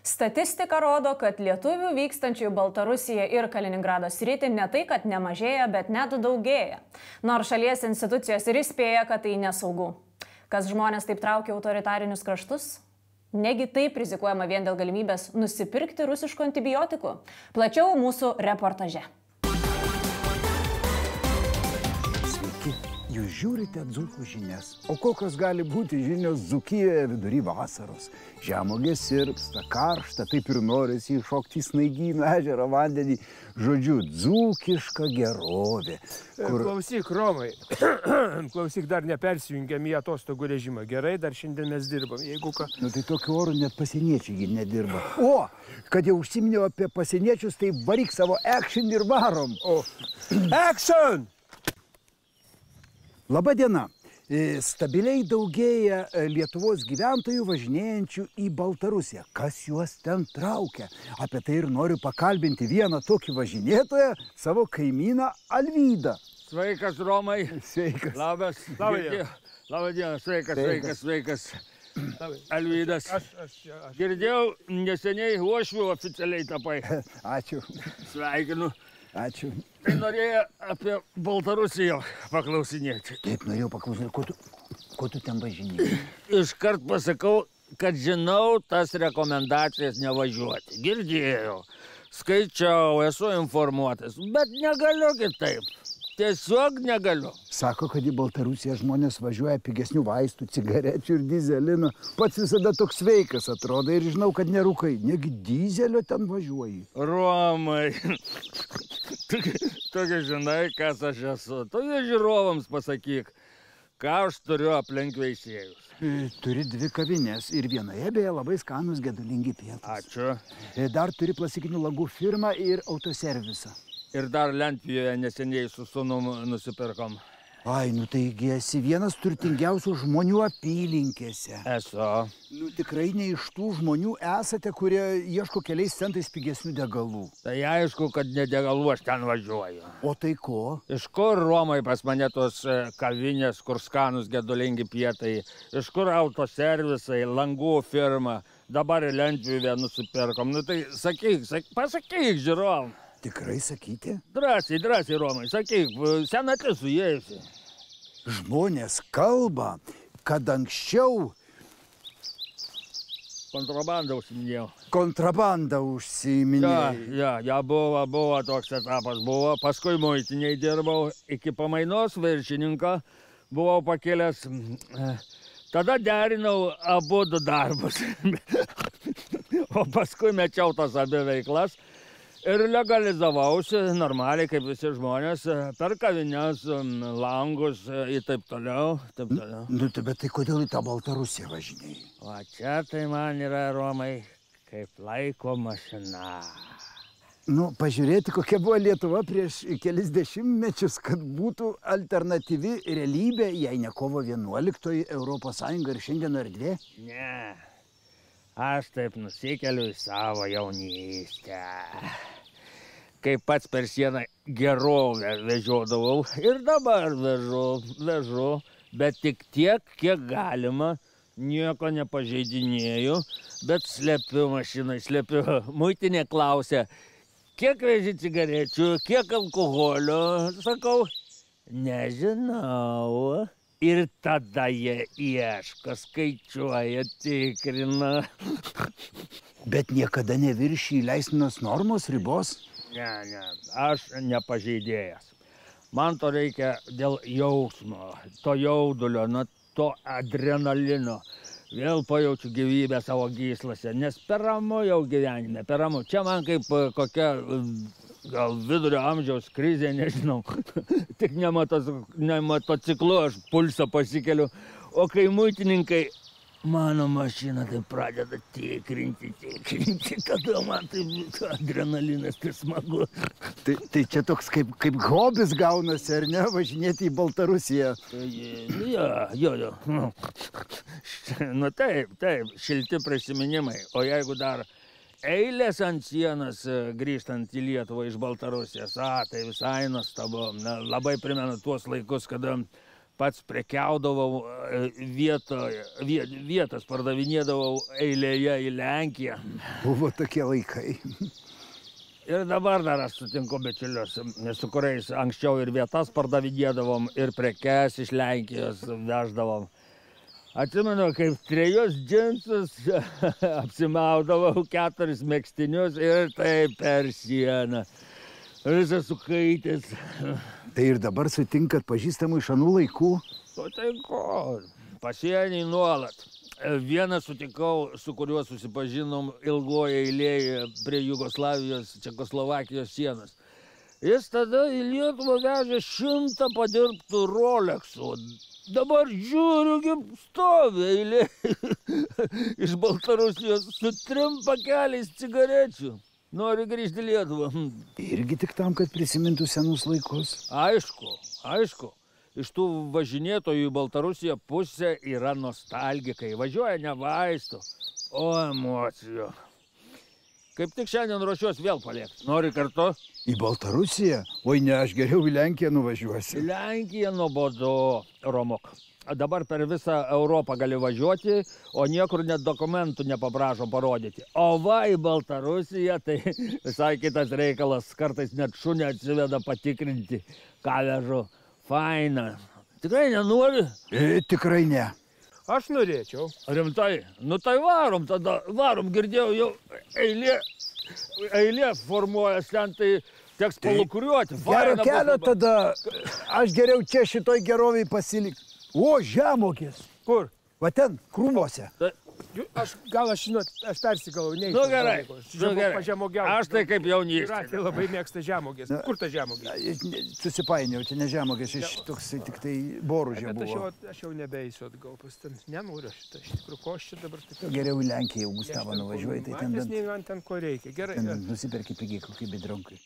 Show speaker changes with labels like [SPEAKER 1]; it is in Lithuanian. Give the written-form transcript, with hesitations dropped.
[SPEAKER 1] Statistika rodo, kad lietuvių vykstančių į Baltarusiją ir Kaliningrado sritį ne tai, kad nemažėja, bet net daugėja. Nors šalies institucijos ir įspėja, kad tai nesaugu. Kas žmonės taip traukia autoritarinius kraštus? Negi taip rizikuojama vien dėl galimybės nusipirkti rusiškų antibiotikų? Plačiau mūsų reportaže.
[SPEAKER 2] Jūs žiūrite dzūkų žinias. O kokios gali būti žinios Dzūkijoje vidury vasaros? Žemuogės sirpsta, karšta, taip ir norisi įšokti į Snaigyno ežero vandenį. Žodžiu, dzūkiška gerovė.
[SPEAKER 3] Klausyk, Romai, klausyk, dar nepersijungiam į atostogų režimą. Gerai, dar šiandien mes dirbam, jeigu ką.
[SPEAKER 2] Nu tai tokiu oru net pasieniečiai nedirba. O, kad jau užsiminiau apie pasieniečius, tai varyk savo action ir varom.
[SPEAKER 3] O, action!
[SPEAKER 2] Labą dieną. Stabiliai daugėja Lietuvos gyventojų važinėjančių į Baltarusiją. Kas juos ten traukia? Apie tai ir noriu pakalbinti vieną tokį važinėtoją, savo kaimyną Alvydą.
[SPEAKER 4] Sveikas, Romai.
[SPEAKER 2] Sveikas.
[SPEAKER 4] Labas. Labą dieną. Sveikas. Alvydas. Girdėjau, neseniai uošviu oficialiai tapai.
[SPEAKER 2] Ačiū.
[SPEAKER 4] Sveikinu.
[SPEAKER 2] Ačiū.
[SPEAKER 4] Tai norėjau apie Baltarusiją paklausinėti.
[SPEAKER 2] Taip, norėjau paklausinėti, ko tu ten važinėjai?
[SPEAKER 4] Iškart pasakau, kad žinau tas rekomendacijas nevažiuoti. Girdėjau, skaičiau, esu informuotas, bet negaliu kitaip. Tiesiog negaliu.
[SPEAKER 2] Sako, kad į Baltarusiją žmonės važiuoja pigesnių vaistų, cigarečių ir dizelino. Pats visada toks sveikas atrodo ir žinau, kad nerūkai. Negi dizelio ten važiuoji.
[SPEAKER 4] Romai, tu žinai, kas aš esu. Tu žiūrovams pasakyk, ką aš turiu aplink veisėjus.
[SPEAKER 2] Turi 2 kavinės ir vienoje beje labai skanus gedulingi pietūs.
[SPEAKER 4] Ačiū.
[SPEAKER 2] Dar turi plastikinių langų firmą ir autoservisą.
[SPEAKER 4] Ir dar Lentvijoje neseniai su sūnum nusipirkom.
[SPEAKER 2] Ai, nu taigi esi vienas turtingiausių žmonių apylinkėse.
[SPEAKER 4] Esu.
[SPEAKER 2] Nu tikrai ne iš tų žmonių esate, kurie ieško keliais centais pigesnių degalų.
[SPEAKER 4] Tai aišku, kad ne degalų aš ten važiuoju.
[SPEAKER 2] O tai ko?
[SPEAKER 4] Iš kur, Romai, pas mane tos kavinės, kur skanus gedulingi pietai? Iš kur autoservisai, langų firma? Dabar į Lentviją nusipirkom. Nu tai pasakyk, žiūrovam.
[SPEAKER 2] Tikrai sakyti?
[SPEAKER 4] Drąsiai, Romai, sakyk, senatis suėjusi.
[SPEAKER 2] Žmonės kalba, kad anksčiau...
[SPEAKER 4] Kontrabandą užsiminėjau.
[SPEAKER 2] Kontrabandą užsiminėjai.
[SPEAKER 4] Ja, buvo toks etapas, buvo. Paskui muitiniai dirbau, iki pamainos viršininko buvau pakėlęs. Tada derinau abu darbus. O paskui mečiau tas abi veiklas. Ir legalizavausi normaliai, kaip visi žmonės, per kavines, langus ir taip toliau.
[SPEAKER 2] Nu, bet tai kodėl į tą Baltarusiją važinėjai?
[SPEAKER 4] O čia tai man yra, Romai, kaip laiko mašina.
[SPEAKER 2] Nu, pažiūrėti, kokia buvo Lietuva prieš kelis dešimtmečius, kad būtų alternatyvi realybė, jei ne kovo 11 Europos Sąjunga ir Šengeno erdvė?
[SPEAKER 4] Ne. Aš taip nusikeliu į savo jaunystę. Kai pats per sieną gerovę vežiodavau ir dabar vežu, bet tik tiek, kiek galima, nieko nepažeidinėju, bet slepiu mašinai, Muitinė klausia, kiek veži cigarečių, kiek alkoholio, sakau, nežinau. Ir tada jie ieško, skaičiuoja, tikrina.
[SPEAKER 2] Bet niekada neviršiji leistinos normos ribos?
[SPEAKER 4] Ne, aš nepažeidėjas. Man to reikia dėl jausmo, to jaudulio, to adrenalino. Vėl pajaučiu gyvybę savo gyslose, nes per ramu jau gyvenime, per ramu. Čia man kaip kokia... Gal vidurio amžiaus krizė, nežinau. Tik ne motociklu, aš pulsą pasikeliu. O kai muitininkai mano mašiną tai pradeda tikrinti, kada man tai adrenalinas, tai smagu.
[SPEAKER 2] Tai čia toks kaip hobis gaunasi, ar ne, važinėti į Baltarusiją?
[SPEAKER 4] Jo. Nu taip, šilti prisiminimai. O jeigu dar... Eilės ant sienos grįžtant į Lietuvą iš Baltarusijos, tai visai nuostabu. Labai primenu tuos laikus, kada pats prekiaudavau vietas, pardavinėdavau eilėje į Lenkiją.
[SPEAKER 2] Buvo tokie laikai.
[SPEAKER 4] Ir dabar dar aš sutinku bičiulius, su kuriais anksčiau ir vietas pardavinėdavom, ir prekes iš Lenkijos veždavom. Atsimenu, kaip 3 džinsus apsimaudavau, 4 megztinius ir taip per sieną. Visas sukaitęs.
[SPEAKER 2] Tai ir dabar sutinkat pažįstamų iš anų laikų?
[SPEAKER 4] Sutinku, pasienį nuolat. Vieną sutikau, su kuriuo susipažinom ilgoje eilėje prie Jugoslavijos, Čekoslovakijos sienos. Jis tada į Lietuvą vežė 100 padirbtų Rolexų. Dabar žiūriu, kaip stovi eilė iš Baltarusijos su 3 pakeliais cigarečių. Nori grįžti į Lietuvą.
[SPEAKER 2] Irgi tik tam, kad prisimintų senus laikus.
[SPEAKER 4] Aišku. Iš tų važinėtojų į Baltarusiją pusė yra nostalgikai. Važiuoja ne vaistų, o emocijų. Kaip tik šiandien ruošiuos vėl paliekti. Nori kartu?
[SPEAKER 2] Į Baltarusiją? Oi ne, aš geriau į Lenkiją nuvažiuosiu.
[SPEAKER 4] Į Lenkiją nuobodu, Romok. Dabar per visą Europą gali važiuoti, o niekur net dokumentų nepaprašo parodyti. O va į Baltarusiją, tai visai kitas reikalas. Kartais net šunį atsiveda patikrinti, ką vežu. Faina. Tikrai nenori?
[SPEAKER 2] Tikrai ne.
[SPEAKER 3] Aš norėčiau.
[SPEAKER 4] Rimtai? Nu tai varom tada. Varom, girdėjau, jau eilė formuojas ten, tai teks palukuriuoti.
[SPEAKER 2] Gero kelio tada. Aš geriau čia šitoj geroviai pasilik. O, žemogės.
[SPEAKER 3] Kur?
[SPEAKER 2] Va ten, krūmuose.
[SPEAKER 3] Aš persigalau, neįsiu.
[SPEAKER 4] Nu gerai, aš tai kaip jaunystė.
[SPEAKER 3] Ratė labai mėgsta žemogės. Kur ta žemogės?
[SPEAKER 2] Susipainiau, čia ne žemogės, toksai tik tai boružė buvo.
[SPEAKER 3] Aš jau nebeįsiu atgal pas ten. Nenoriu šitą, iš tikrųjų, ko aš čia dabar taip.
[SPEAKER 2] Geriau į Lenkiją, jau Gustavą nuvažiuoji, tai ten...
[SPEAKER 3] Ten ko reikia, gerai.
[SPEAKER 2] Ten nusiperki pigiai kokį bedronkai.